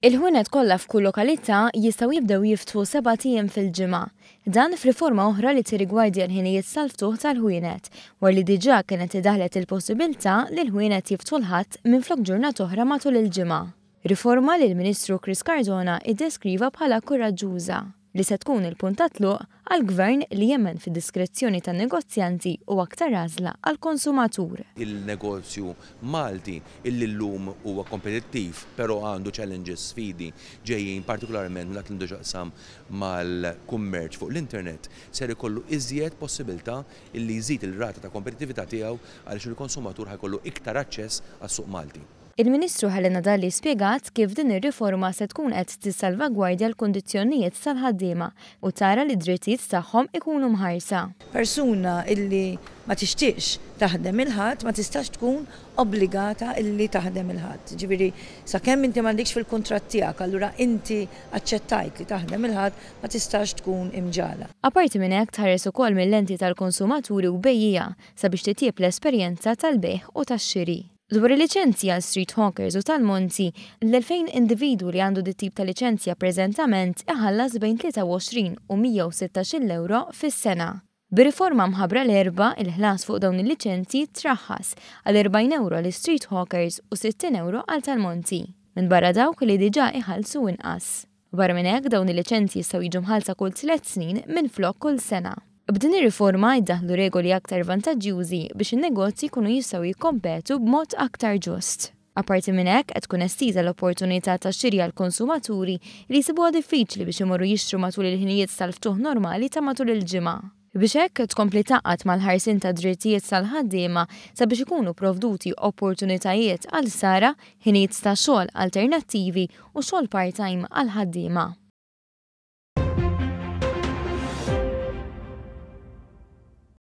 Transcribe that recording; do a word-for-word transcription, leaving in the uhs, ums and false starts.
Il-ħwienet kollha f'kull lokalità jistgħu jibdew jiftħu sebat ijiem fil-ġimgħa. Dan f'riforma oħra li tirrigwardja l-ħinijiet tal-ftuħ tal-ħwienet, wara li diġà kienet idaħlet il-possibilità li l-ħwienet jiftħu l-Ħadd minflok ġurnata oħra matul il-ġimgħa. Riforma li l-Ministru Chris Cardona iddeskriva bħala kuraġġuża, li se tkun il-punt ta' tluq għal gvern li jemmen fid-diskrezzjoni tan-negozjanti u aktar għażla għall-konsumatur. Il-negozju Malti illi llum huwa kompetittiv, però għandu challenges, sfidi ġejjin partikolarment minn dak li għandu x'jaqsam mal-kummerċ fuq l-internet, ser ikollu iżjed possibilità illi jżid il-rata ta' kompetittività tiegħu għaliex il-konsumatur ħa jkollu iktar aċċess għas-suq Malti. Il-Ministru Helena Dalli spjegat kif din ir-riforma se tkun qed tissalvagwardja l-kundizzjonijiet tal-ħaddiema u tara li d-drittijiet tagħhom ikunu mħarsa. Persuna illi ma tixtieqx taħdem il-Ħadd ma tistax tkun obbligata illi taħdem il-Ħadd. Ġifieri sakemm inti m'għandikx fil-kuntratt tiegħek, allura inti aċċettajt li taħdem il-Ħadd, ma tistax tkun imġagħla. Apparti minn hekk, tħares ukoll mill-lenti tal-konsumaturi u bejjiegħa sabiex titjieb l-esperjenza tal-bejgħ u tax-xiri. Dwar il-liċenzja għal street hawkers u tal-monti, l-elfejn individu li għandu dit tip ta' liċenzja preżentament iħallas bejn tlieta u għoxrin u mija u sittax-il euro fis-sena. Bir-riforma mħabbra l-Erbgħa, il-ħlas fuq dawn il-liċenzji traħħas għal erbgħin euro għal street hawkers u sittin euro għal tal-monti, minn barra dawk li diġà iħallsu inqas. Barra minn hekk, dawn il-liċenzji jistgħu jiġu mħallsa kull tliet snin minn flok kull sena. B'din ir-riforma jiddaħlu regoli aktar vantaġġjużi biex in-negozji jkunu jistgħu jikkompetu b'mod aktar ġust. Apparti minn hekk, qed tkun estiża l-opportunità ta' xiri għal konsumaturi li jsibuha diffiċli biex imorru jixtru matul il-ħinijiet tal-ftuħ normali ta' matul il-ġimgħa. Biex hekk tkompli tgħaqqad mal-ħarsien ta' drittijiet tal-ħaddiema sabiex ikunu provduti opportunitajiet għal sara, ħinijiet ta' xogħol alternattivi u xogħol part-time għal ħaddiema.